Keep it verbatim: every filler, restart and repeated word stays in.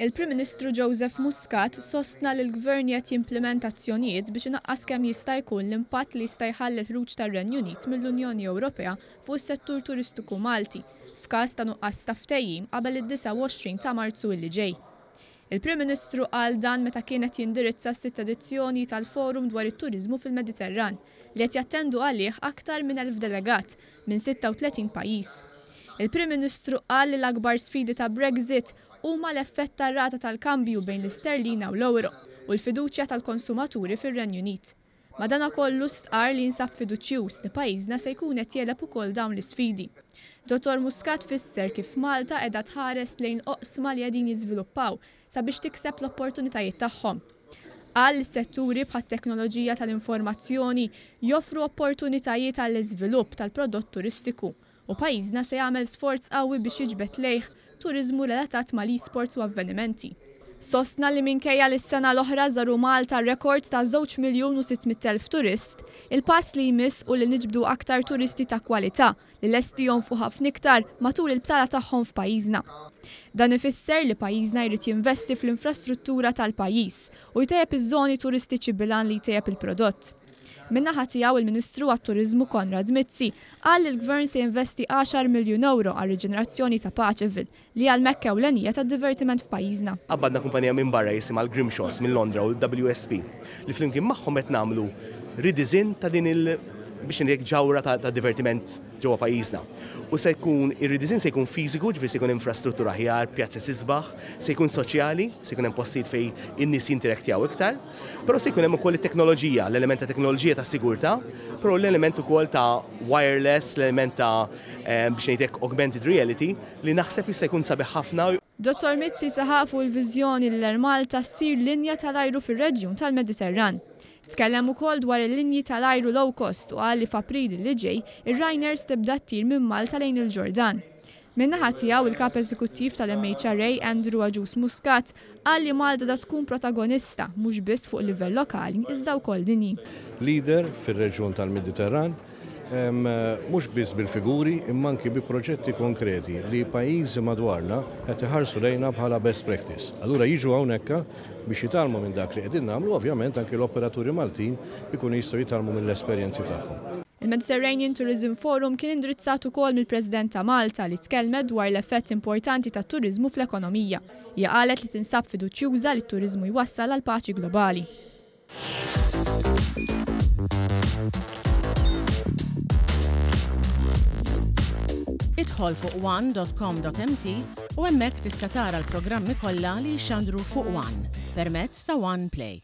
Il-Prim Ministru Joseph Muscat sostna li l-Gvern qed jimplementa azzjonijiet biex inaqqas kemm jista' jkun l-impatt li jista' jħalli l-ħruġ tar-Renju Unit mill-Unjoni Ewropea fuq is-settur turistiku Malti f'każ ta' nuqqas ta' ftehim qabel id-disgħa u għoxrin ta' Marzu li ġej. Il-Prim Ministru qal dan meta kien qed jindirizza s-sitt edizzjoni tal-Forum dwar it-Turiżmu fil-Mediterran li qed jattendu għalih aktar minn elf delegat minn sitta u tletin pajjiż. Il-Prim Ministru qal li l-akbar sfidi ta' Brexit huma l-effett tar-rata tal-kambju bejn l-isterlina u l-euro u l-fiduċja tal-konsumaturi fir-Renju Unit. Madanakollu stqar li jinsab fiduċjuż li pajjiżna se jkun qed jegħleb ukoll dawn l-isfidi. Dottor Muscat fisser kif Malta qiegħda tħares lejn oqsma li qegħdin jiżviluppaw sabiex tikseb l-opportunitajiet tagħhom. Qal li setturi bħat-teknoloġija tal-informazzjoni joffru opportunitajiet għall-iżvilupp tal-prodott turistiku u pajjiżna se jagħmel sforz qawwi biex jiġbed lejh turiżmu relatat mal-e-sports u avvenimenti. Sostna li minkejja li s-sena l-oħra żaru Malta rekord ta' żewġ miljun u sitt mitt elf turist, il-pass li jmiss u li niġbdu aktar turisti ta' kwalità li lesti jonfqu ħafna iktar matul il-btala tagħhom f'pajjiżna. Dan ifisser li pajjiżna jrid jinvesti fl-infrastruttura tal-pajjiż u jtejjeb iż-żoni turistiċi bil-għan li jtejjeb il-prodott. Min-naħa tiegħu il-Ministru għat-Turiżmu Konrad Mizzi qal li l-Gvern se jinvesti għaxar miljun euro għal riġenerazzjoni ta' Paceville li għal mekka ewlenija tad-divertiment f'pajjiżna. Qabbadna kumpanija minn barra jisimha l-Grimshaws minn Londra u l-W S P li flimkien magħhom qed nagħmlu redesign ta' din il biex ngħidlek ġawra ta', ta' divertiment ġewwa pajjiżna. U se jkun ir-redesign se jkun fiżiku, ġifieri se jkun infrastruttura aħjar, pjazza isbaħ, se jkun soċjali, se jkun hemm postijiet fejn in-nies jinteraktjaw iktar, però se jkun hemm ukoll it-teknoloġija, l-element ta' teknoloġija ta' sigurtà, però l-element ukoll ta' wireless, l-element ta', eh, biex ngħidlek augmented reality li naħseb jista' jkun sabiħ ħafna. Dottor Mizzi saħaq fuq il-viżjoni li l-Air Malta ssir linja tal-ajru fir-reġjun tal-Mediterran. Tkellem ukoll dwar il-linji tal-ajru low cost u qal li f'April li ġej ir-Ryanair tibda ttir minn Malta lejn il-Ġordan. Min-naħa tiegħu il-kap eżekuttiv tal-M H R A Andrew Agius Muscat qal li Malta da tkun protagonista mhux biss fuq livell lokali iżda wkoll dinji. Leader fir-reġjun tal-Mediterran, em, mhux biss bil-figuri imma anki bi proġetti konkreti li pajjiżi madwarna qed iħarsu lejna bħala best practice. Allura jiġu hawnhekk biex jitgħallmu minn dak li qegħdin nagħmlu, ovvjament anki l-operaturi Maltin ikunu jistgħu jitgħallmu mill-esperjenzi tagħhom. Il-Mediterranean Tourism Forum kien indirizzat ukoll mill-President ta' Malta li tkellmet dwar l-effett importanti tat-turiżmu fl-ekonomija. Hija qalet li tinsab fiduċjuża li t-turiżmu jwassal għal paċi globali. Idħol fuq one dot com dot M T u hemmhekk tista' tara l-programmi kollha li jxandru fuq One permezz ta' One Play.